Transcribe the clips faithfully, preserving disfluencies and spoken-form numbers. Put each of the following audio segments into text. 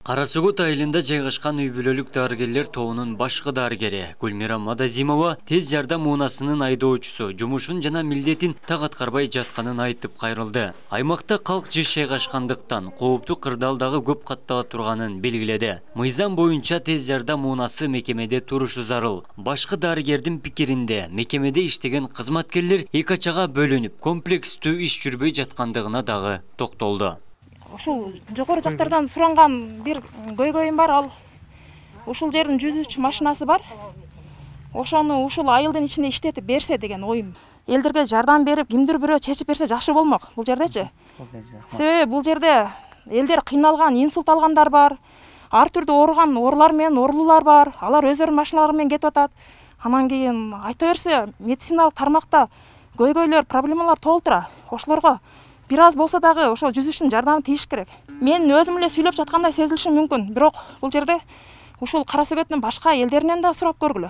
Кара Сугут айылында жайгашкан үй бүлөлүк дарыгерлер тобунун башкы дарыгери Гүлмира Мадазимова тез жардам унаасынын айдоочусу жумушун жана милдетин так аткарбай жатканын айтып кайрылды. Аймакта калк жыш жайгашкандыктан кооптуу кырдаал дагы көп каттала турганын белгиледи. Мыйзам боюнча тез жардам унаасы мекемеде турушу зарыл. Башкы дарыгердин пикиринде мекемеде иштеген кызматкерлер эки ачага бөлүнүп, комплекстүү иш жүрбөй жаткандыгына дагы токтолду. Ушул жогору жактардан суранган бир көйгөйүм бар, ал ушул жердин жүз үч машинасы бар. Ошону ушул айылдын ичинде иштетип берсе деген оюм. Элдерге жардам берип, кимдир бирөө чечип берсе жакшы болмок бул жердечи. Себеби бул жерде элдер кыйналган, инсульт алгандар бар. Ар түрдүү ооруган оорулар менен оорулуулар бар. Алар өздөрүнүн машиналары менен кетип атат. Анан кийин айта берсе, медициналык тармакта көйгөйлөр, проблемалар толтура. Ошолорго бир аз болсо дагы ошо жүз үчтүн жардамы тийиш керек. Мен өзүм эле сүйлөп жаткандай сезилиши мүмкүн, бирок бул жерде ушул Кара Сугуттун башка элдеринен да сурап көргүлө.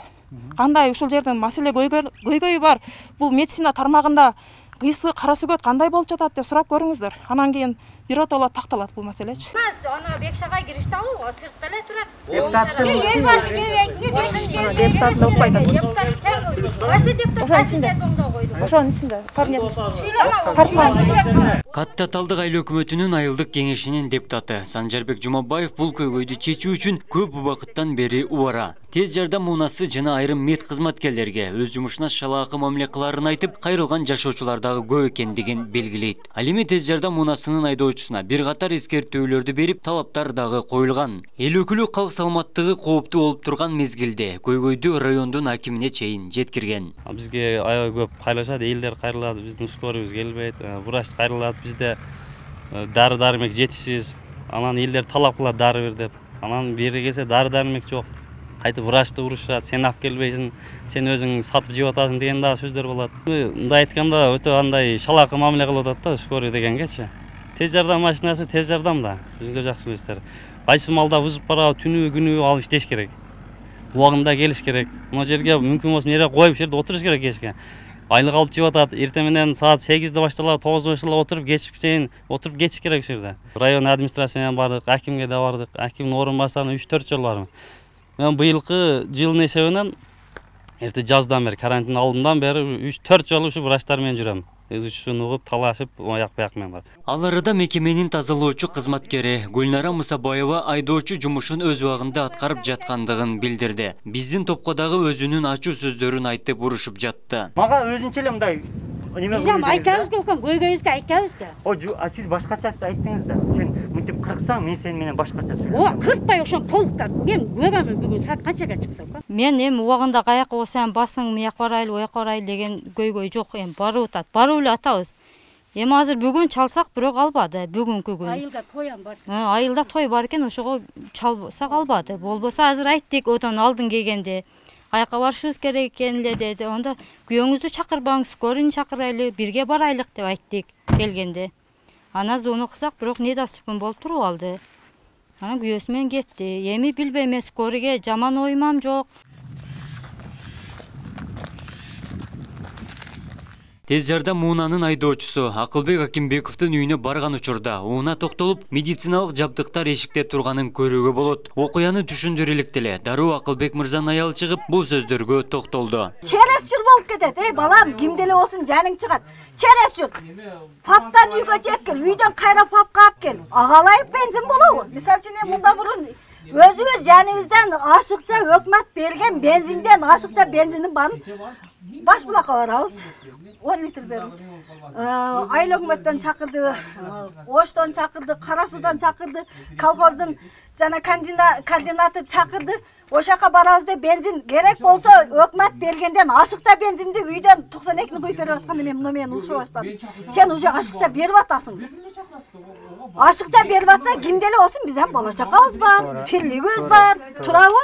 Кандай ушул жерден маселе көйгөйү бар, бул медицина тармагында кыйсы Кара Сугут кандай болуп жатат деп сурап көрүңүздөр. Анан кийин биротоло такталат бул маселечи. Ана Бекшага киришти ал, сыртта эле турат. Депутаттын эл башы кебек, депутат окпойт. Депутат тең. Кайсы депутат кайсы жардамда койду? Ошонун ичинде Катта Талдык айыл өкмөтүнүн айылдык кеңешинин депутаты Санжарбек Жумабаев бул көйгөйдү чечүү үчүн көп убакыттан бери убара. Тез жардам унаасы жана айрым мед кызматкерлерге өз жумушуна шалаакы мамиле кыларын айтып, кайрылган жашоочулар дагы көп экендигин белгилейт. Ал эми тез жардам унаасынын айдоочусуна бир катар эскертүүлөрдү берип, талаптар дагы коюлган. Эл өкүлү калк саламаттыгы кооптуу болуп турган мезгилде көйгөйдү райондун акимине чейин жеткирген. Бизге аябай көп кайрылышат, элдер кайрылат, биздин ускорубуз келбейт, врач кайрылат, бизде дары-дармек жетишсиз. Анан элдер талап кылат дары бер деп. Анан бери келсе дары-дармек жок. Кайтып врачты урушат, сен алып келбейсиң, сен өзүң сатып жеп атасың деген дагы сөздөр болот. Мындай айтканда өтө андай шалаакы мамиле кылып атат да скорый дегенгечи. Тез жардам машинасы тез жардам да. Өзүңөр жакшы билесиздер. Кайсы малда вызып барабы, түнү күнү алып иштеш керек. Убагында келиш керек. Мына жерге мүмкүн болсо нере коюп, жерде отуруш керек кечке. Айлык алып жеп атат, эртең менен саат сегизде башталат, тогузда башталат, отуруп кечке чейин отуруп кетиш керек ушул жерде. Район администрациядан бардык, акимге да бардык, акимдин орун басарына үч төрт жолу бармын. Мен быйылкы жылдын эсебинен эрте жаздан бери, карантин алдындан бери үч төрт жолу ушу врачтар менен жүрөм. Өз учун угуп, талашып, аяк бияк менен бар. Ал арада мекеменин тазалоочу кызматкери Гүлнара Мусабаева айдоочу жумушун өз убагында аткарып жаткандыгын билдирди. Биздин топко дагы өзүнүн ачуу сөздөрүн айтып урушуп жатты. Мага өзүнчө эле мындай неме Биз айтабыз экен, көйгөйүбүздү айтабыз да. О, сиз башкача айттыңыз да. Сен мынтип кырксаң, мен сени менен башкача сүйлөйм. О, кыртпай ошон толуктап. Мен көрөмүн бүгүн саат канчага чыксам. Мен эми убагында каяка болсам басың, мияка барайлы, ояка барайлы деген көйгөй жок. Эми барып атат. Барып эле атабыз. Эми азыр бүгүн чалсак, бирок албады. Бүгүнкү күн. Айылда тоям бар. Айылда той бар экен, ошого чалсак албады. Болбосо азыр айттык, отон алдын келгенде. Аяка барышыбыз керек экен эле деди. Онда күйөөңүздү чакырбаңыз, скорыйны чакырайлы, бирге барайлык деп айттык келгенде. Анан зону кылсак, бирок недоступун болуп туруп алды. Анан күйөөсү менен кетти. Эми билбейм, скорыйге жаман оймам жок. Тез жардам унаанын айдоочусу Акылбек Акимбековдун үйүнө барган учурда уна токтолуп, медициналык жабдыктар эшикте турганын көрүүгө болот. Окуяны түшүндүрө электе дароо Акылбек мырзанын аялы чыгып, бул сөздөргө токтолду. Через жыл болуп кетет. Эй балам, кимде эле болсун жаның чыгат. Через жыл. Паптан үйгө жеткил, үйдөн кайра папка алып кел. Агалайып бензин болобу? Мисалы үчүн мында мурун өзүбүз жаныбыздан ашыкча өкмөт берген бензинден ашыкча бензиндин баарын баш булакка барабыз. он литр берип. Айыл өкмөттөн чакырды, Оштон чакырды, Кара Суудан чакырды, колхоздун жана координатор чакырды. Ошака барабыз деп бензин керек болсо өкмөт бергенден ашыкча бензинди үйдөн токсон экини куюп берип атканда мен муну менен урушуп баштадым. Сен уже ашыкча берип атасың. Ашыкча берип атса кимде эле болсун биздин бала чакабыз бар, тирлигибиз бар, турабы?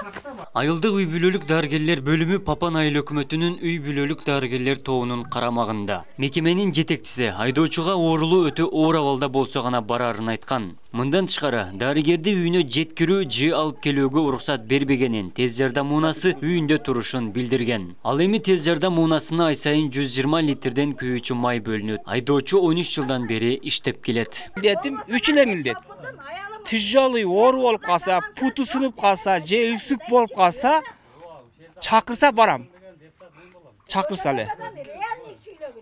Айылдык үй бүлөлүк дарыгерлер бөлүмү Папан айыл өкмөтүнүн үй бүлөлүк дарыгерлер тобунун карамагында. Мекеменин жетекчиси айдоочуга оорулуу өтө оор абалда болсо гана барарын айткан. Мындан тышкары дарыгерди үйүнө жеткирүү же алып келүүгө уруксат бербегенин тез жардам унаасы үйүндө турушун билдирген. Ал эми тез жардам унаасына ай сайын жүз жыйырма литрден күйүүчү май бөлүнөт. Айдоочу он үч жылдан бери иштеп келет. Милдетим үч эле милдет. тяжелый оору болуп калса, путу сынып калса, же үсүк болуп калса, чакырса барам. Чакырса эле.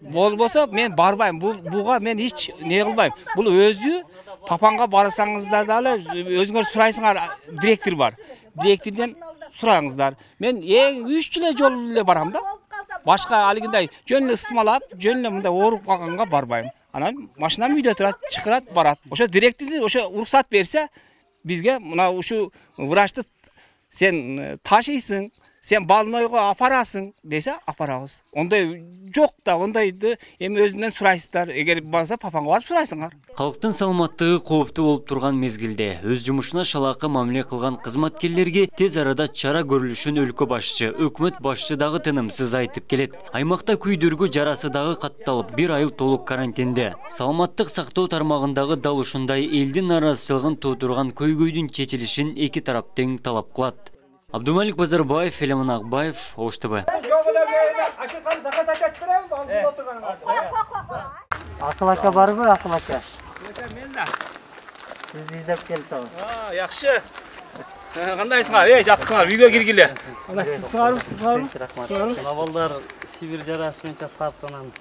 Болбосо мен барбайм. Бул буга мен эч не кылбайм. Бул өзү папаңга барсаңыздар дагы өзүңөр сурайсыңар, директор бар. Директорден сураңыздар. Мен эң үч жылы жолу эле барам да. Башка алгындай жөн эле ыстымалап, жөн эле мындай ооруп калганга барбайм. Анан машинам үйдө турат, чакырат, барат. Ошо директор ошо уруксат берсе, бизге мына ушу врачты сен ташыйсың, сен больнойго апарасың десе, апарабыз. Ондай жок да, ондайды эми өзүнөн сурайсыздар. Эгер болсо папаңга барып сурайсыңар. Калктын саламаттыгы кооптуу болуп турган мезгилде өз жумушуна шалаакы мамиле кылган кызматкерлерге тез арада чара көрүлүшүн өлкө башчы, өкмөт башчы дагы тынымсыз айтып келет. Аймакта күйдүргү жарасы дагы катталып, бир айыл толук карантинде. Саламаттык сактоо тармагындагы дал ушундай элдин наразычылыгын туудурган көйгөйдүн чечилишин эки тарап тең талап кылат. Абдумалик Базарбаев, Элемин Акбаев, Ош Т В. Акыл ака барбы, Акыл ака? Мен да. Сизди издеп келип А, жакшы. Кандайсыңар? Эй, жакшысыңар. Үйгө киргиле. Ана сиз сыңарбы, сиз сыңарбы? Мына балдар Сибир жарасы менен тартып анан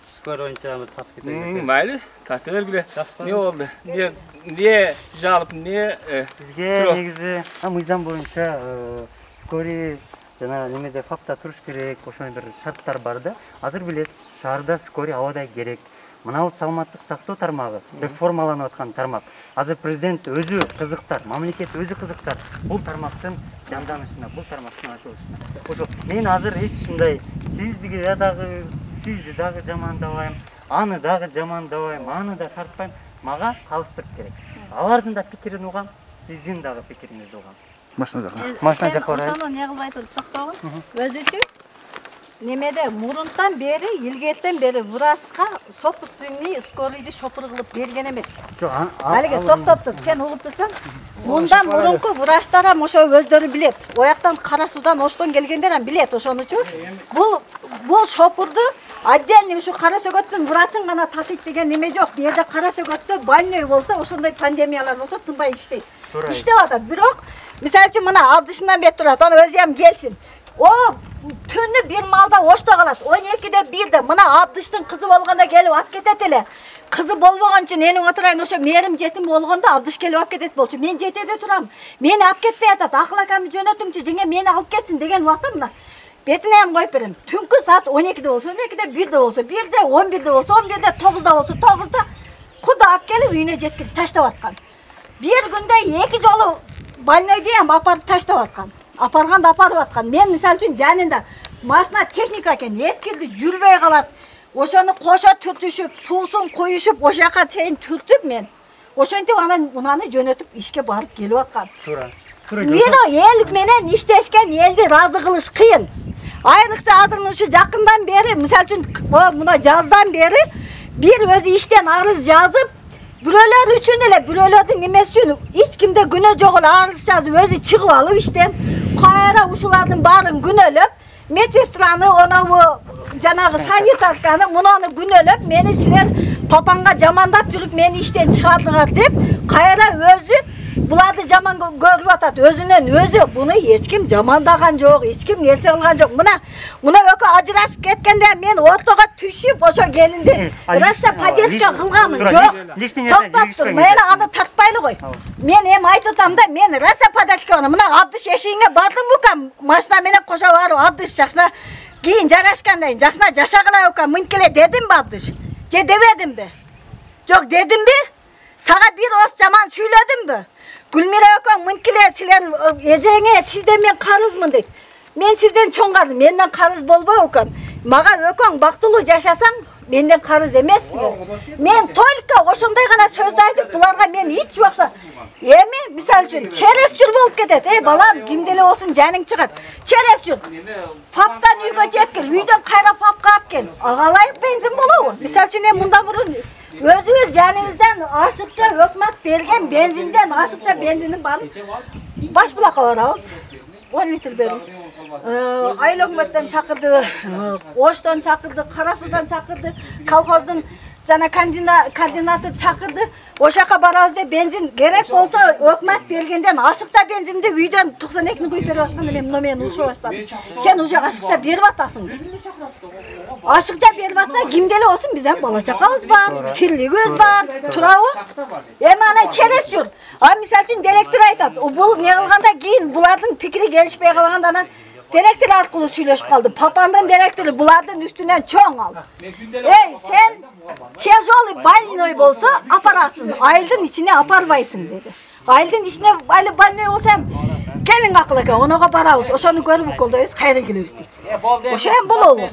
скорый боюнча бир тартып кетет. Майли, тарта бергиле. Не болду? Не, не жалып, не сизге негизи мыйзам боюнча скорый жана немеде факта туруш керек, ошондой бир шарттар бар да. Азыр билесиз, шаарда скорый абадай керек. Мына бул саламаттык сактоо тармагы реформаланып аткан тармак. Азыр президент өзү кызыктар, мамлекет өзү кызыктар бул тармактын жанданышына, бул тармактын ачылышына. Ошо мен азыр эч мындай сизди дагы, сизди дагы жамандабайм, аны дагы жамандабайм, аны да тартпайм. Мага калыстык керек. Алардын да пикирин угам, сиздин дагы пикириңизди угам. Машина жакка. Машина жакка барайын. Ошону не кылбай туруп токтогун. Өзүчү немеде мурунтан бери, илгертен бери врачка сопустуйни скорыйды шопур кылып берген эмес. Алиге токтоп, сен угуп турсаң, мындан мурунку врачтар ошо өздөрү билет. Ояктан Кара Судан, Оштон келгендер билет ошонучу. Бул бул шопурду отдельный ушу Кара Сөгөттүн врачын гана ташыйт деген неме жок. Бу жерде Кара Сөгөттө больной болсо, ошондой пандемиялар болсо тынбай иштейт. Иштеп атат. Бирок, мисалы үчүн мына Абдышынан бет турат, аны өзү ham келсин. О, түнү бир малда Ошто калат. он экиде бирде мына Абдыштын кызы болгондо келип алып кетет эле. Кызы болбогон үчүн энин отурайын, ошо мерим жетим болгондо Абдыш келип алып кетет болчу. Мен жетеде турам. Мени алып кетпей атат. Акыл акамды жөнөтүңчү, жеңе мени алып кетсин деген убакта мына бетине ham коюп берем. Түнкү саат он экиде болсо, он экиде бирде болсо, бирде, он бирде болсо, он бирде, тогузда болсо, тогузда куда алып келип үйүнө жеткирип таштап аткан. Бир күндө эки жолу больнойду ham апарып таштап аткан. Апарганды апарып аткан. Мен мисалы үчүн жанында машина техника экен, эскирди, жүрбөй калат. Ошону кошо түртүшүп, суусун коюшуп, ошол жака чейин түртүп мен ошентип анан унаны жөнөтүп ишке барып келип аткан. Туура. Мен эл менен иштешкен элди ыраазы кылыш кыйын. Айрыкча азыр ушу жакындан бери, мисалы үчүн мына жаздан бери бир өзү иштен арыз жазып, бирөөлөр үчүн эле, бирөөлөрдүн немеси үчүн эч кимде күнөө жок эле арыз жазып, өзү чыгып алып иштен, кайра ушулардын баарын күнөөлөп, медсестраны, онабу жанагы санитарканы, мунаны күнөөлөп, мени силер папаңга жамандап жүрүп, мени иштен чыгардыңар деп, кайра өзү буларды жаман көрүп атат. Өзүнөн өзү буну эч ким жамандаган жок, эч ким нерсе кылган жок. Мына, мына экөө ажырашып кеткенде мен ортого түшүп, ошо келинди раса поддержка кылганмын. Жок. Токтоптур, мени аны тартпайлы кой. Мен эми айтып атам да, мен раса поддержка кылган. Мына Абдыш эшигиңе бардым букам, машина менен кошо барып Абдыш жакшына кийин жарашкандай, жакшына жашагыла букам, мынкеле дедимби Абдыш? Же дебедимби? Жок, дедимби? Сага бир ос жаман сүйлөдүмбү? Гүлмира экөөң мынкиле силер эжеңе сизден мен карызмын дейт. Мен сизден чоң карыз, менден карыз болбой экөөң. Мага экөөң бактылуу жашасаң, менден карыз эмессиңер. Мен только ошондой гана сөздү айтып, буларга мен эч убакта эми мисалы үчүн чересчур болуп кетет. Эй балам, кимде эле болсун жаның чыгат. Чересчур. Фаптан үйгө жеткил, үйдөн кайра фапка алып кел. Агалайык бензин болобу? Мисалы үчүн эми мында мурун өзүбүз жаныбыздан ашыкча өкмөт берген бензинден ашыкча бензиндин барып баш булакка барабыз. он литр берип. Айыл өкмөттөн чакырды, Оштон чакырды, Кара Судан чакырды, колхоздун жана координатор чакырды. Ошол жака барабыз деп бензин керек болсо өкмөт бергенден ашыкча бензинди үйдөн токсон экини куюп берип атканда мен мына мени ушуп баштадым. Сен уже ашыкча берип атасың. Ашыкча берип атса кимде эле болсун биз эми бала чакабыз бар, тирлигибиз бар, турабы? Эми ана через жүр. А мисалы үчүн директор айтат, бул не кылганда кийин булардын пикири келишпей калганда анан директор аркылуу сүйлөшүп калды. Папандын директору булардын үстүнөн чоң ал. Эй, сен тяжелый больной болсо апарасың, айылдын ичине апарбайсың деди. Айылдын ичине али больной болсам, келин акыл экен, онога барабыз. Ошону көрүп уколдойбуз, кайра келебиз дейт. Ошо эми болобу?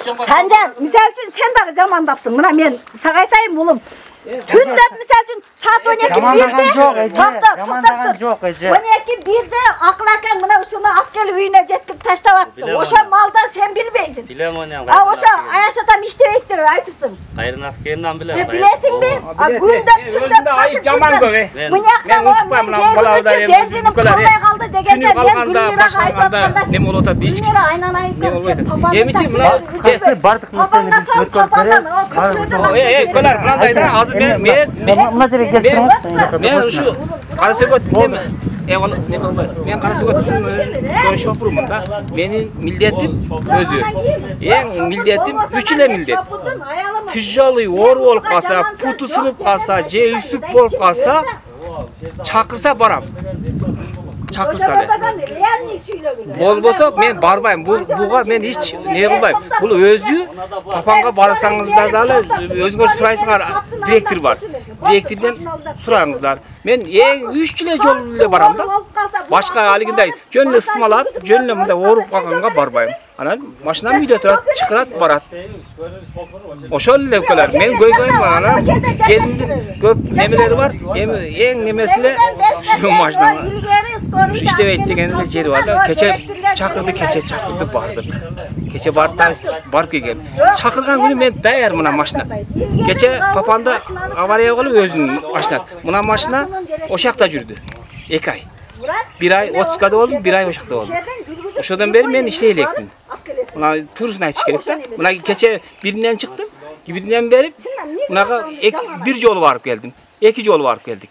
Санжар, мисалы үчүн сен дагы жамандапсың. Мына мен сага айтайын улум. Түндө мисалы үчүн саат он эки бирде токтоп, токтоп тур. он эки бирде акыл акаң мына ушуну алып келип үйүнө жеткирип таштап атты. Ошо малдан сен билбейсиң. Билем оны. А ошо аяш атам иштебейт деп айтыпсың. Кайрын аккендан билем. Билесиңби? А күндө түндө ташып жаман көп. Мынякта мен келгүчү бензиним калбай калды дегенде мен Гүлмирага айтып атканда неме болуп атат дейчи. Гүлмира айнан айтып. Эмичи мына бардык нерсени өткөрүп Эй, эй, колар, мынандай да азыр мен мен мына жерге келип туруңуз. мен ушу кара сөгөт неме эвал неме болбойт. Мен кара сөгөт шофурмун да. Менин милдетим өзү. Эң милдетим үч эле милдет. Тяжелый оору болуп калса, путу сынып калса, же үсүк болуп калса, чакырса барам. Чакырса эле. Болбосо мен барбайм. Бул буга мен эч не кылбайм. Бул өзү папаңга барсаңыздар дагы өзүңөр сурайсыңар, директор бар. Директордон сураңыздар. Мен эң үч эле жол эле барам да. Башка алигиндай жөн эле ыстымалап, жөн эле мындай ооруп калганга барбайм. Анан машинам үйдө турат, чакырат, барат. Ошол эле укалар. Мен көйгөйүм бар. Анан келиндин көп немелери бар. Эми эң немеси эле ушу машина. Ушу иштебейт деген эле жери бар да. Кече чакырды, кече чакырды, бардык. Кече барып барып келгем. Чакырган күнү мен даяр мына машина. Кече папамда авария болуп өзүнүн машинасы. Мына машина ошол жакта жүрдү. эки ай. бир ай отпускада болдум, бир ай ошол жакта болдум. Ошодон бери мен иштей элекмин. Мына турусын айтыш керек да. Мына кече биринен чыктым, биринен бери мынага бир жолу барып келдим. эки жолу барып келдик.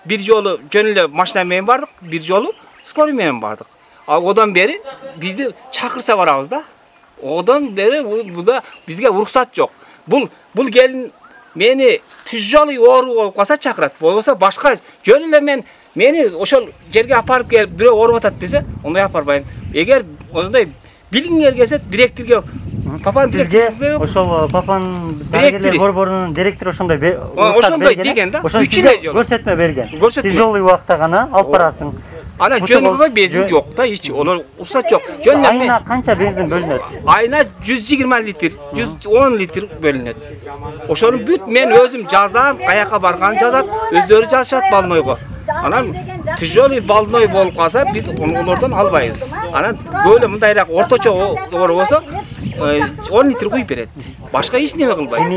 Бир жолу жөн эле машина менен бардык, бир жолу скорый менен бардык. А одан бери бизди чакырса барабыз да. Одан бери буда бизге уруксат жок. Бул бул келин мени тяжелый оору болуп калса чакырат. Болбосо башка жөн эле мен мени ошол жерге апарып келип бирөө ооруп атат десе, ондай апарбайм. Эгер ошондой билгиңер келсе, директорго папанын директору ошол папанын директор борборунун директору ошондой ошондой деген да. үч эле жол көрсөтмө берген. Тяжелый убакта гана алып барасың. Ана жөнгөгө бензин жок да, эч олар уруксат жок. Жөн эле айына канча бензин бөлүнөт? Айына жүз жыйырма литр, жүз он литр бөлүнөт. Ошону бүт мен өзүм жазам, каяка барганын жазат, өздөрү жазышат балнойго. Анан тяжелый балной болуп калса, биз олордон албайбыз. Анан көйлө мындайраак орточо оор болсо, он литр куюп берет. Башка эч неме кылбайт.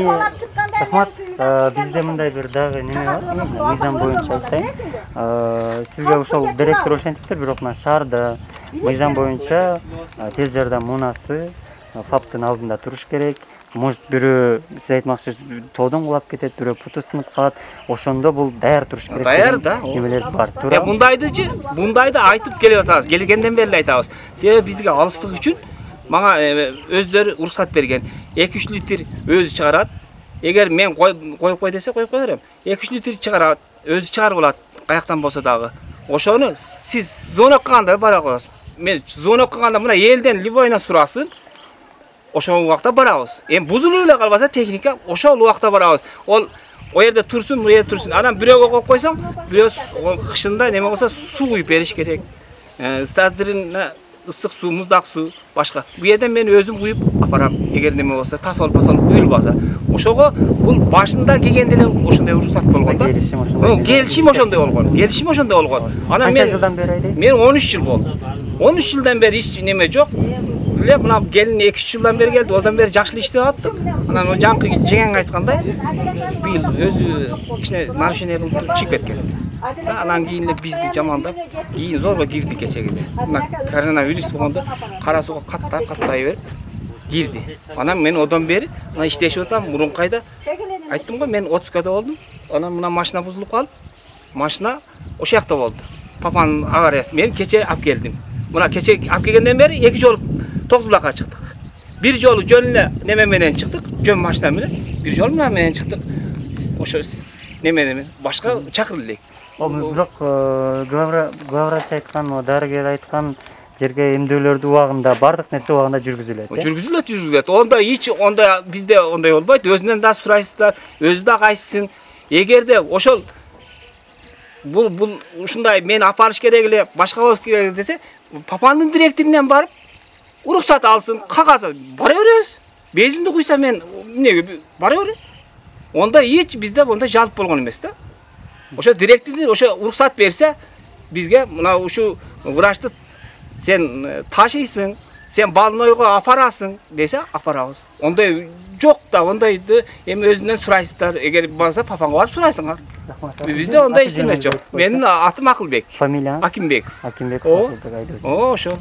Рахмат. Бизде мындай бир дагы неме бар. Мыйзам боюнча айтайын. Сизге ошол директор ошентиптир, бирок мына шаарда мыйзам боюнча тез жардам муунасы фаптын алдында туруш керек. Может бирөө сиз айтмакчысыз тоодон кулап кетет, бирөө путу сынып калат. Ошондо бул даяр туруш керек. Даяр да. Немелер бар. Э мундайдычы, мундайды айтып келип атабыз. Келгенден бери айтабыз. Себеби бизге алыстык үчүн мага өздөрү уруксат берген. эки үч литр өзү чыгарат. Эгер мен коюп кой десе коюп кое берем. эки үч литр чыгарат, өзү чыгарып алат, каяктан болсо дагы. Ошону сиз звонок кылганда бара коесуз. Мен звонок кылганда мына элден любойна сурасын. Ошол убакта барабыз. Эми бузулуп эле калбаса техника, ошол убакта барабыз. Ол о жерде турсун, бу жерде турсун. Анан бирөөгө коюп койсоң, бирөө кышында неме болсо суу куюп бериш керек. Э, стадрин ысык суу, муздак суу, башка. Бу жерден мен өзүм куюп апарам. Эгер неме болсо, тас болуп калса, куюлбаса. Ошого бул башында келгенде эле ошондой уруксат болгон да. Келишим ошондой болгон. Келишим ошондой болгон. Анан мен мен он үч жыл болду. он үч жылдан бери эч неме жок. Биле мына келин эки үч жылдан бери келди, одан бери жакшы иштеп аттым. Анан о жаңкы жеңең айткандай, бил өзү кичине нарушение кылып туруп чыгып кеткен. Анан кийин эле бизди жамандап, кийин зорго кирди кечеги эле. Мына коронавирус болгондо кара сууга каттай каттай берип, кирди. Анан мен одан бери мына иштешип атам. Мурункайда айттым го, мен отузгада болдум. Анан мына машина бузулуп калып, машина ошол жакта болду. Папанын авариясы. Мен кече алып келдим. Мына кече алып келгенден бери эки жолу тогуз булакка чыктык. Бир жолу жөн эле неме менен чыктык, жөн машина менен. Бир жолу мына менен чыктык. Ошо неме менен башка чакырып элек. Бирок главврач айткан, дарыгер айткан жерге эмдөөлөрдү убагында, бардык нерсе убагында жүргүзүлөт. Жүргүзүлөт, жүргүзүлөт. Онда эч онда бизде ондай болбойт. Өзүнөн да сурайсыздар, өзү да кайсысын. Эгерде ошол бул бул ушундай мен апарыш керек эле, башка болуш керек десе, папанын директорунан барып уруксат алсын, кагаз бара беребиз. Безинди куйса мен эмнеге бара берем. Онда эч бизде онда жалп болгон эмес да. Ошо директор ошо уруксат берсе, бизге мына ушу врачты сен ташыйсың, сен больнойго апарасың десе, апарабыз. Ондай жок да, ондайды эми өзүнөн сурайсыздар. Эгер болсо папаңга барып сурайсыңар. Бизде ондай иштеме жок. Менин атым Акылбек. Фамилияң? Акимбеков. Акимбеков. О, ошо.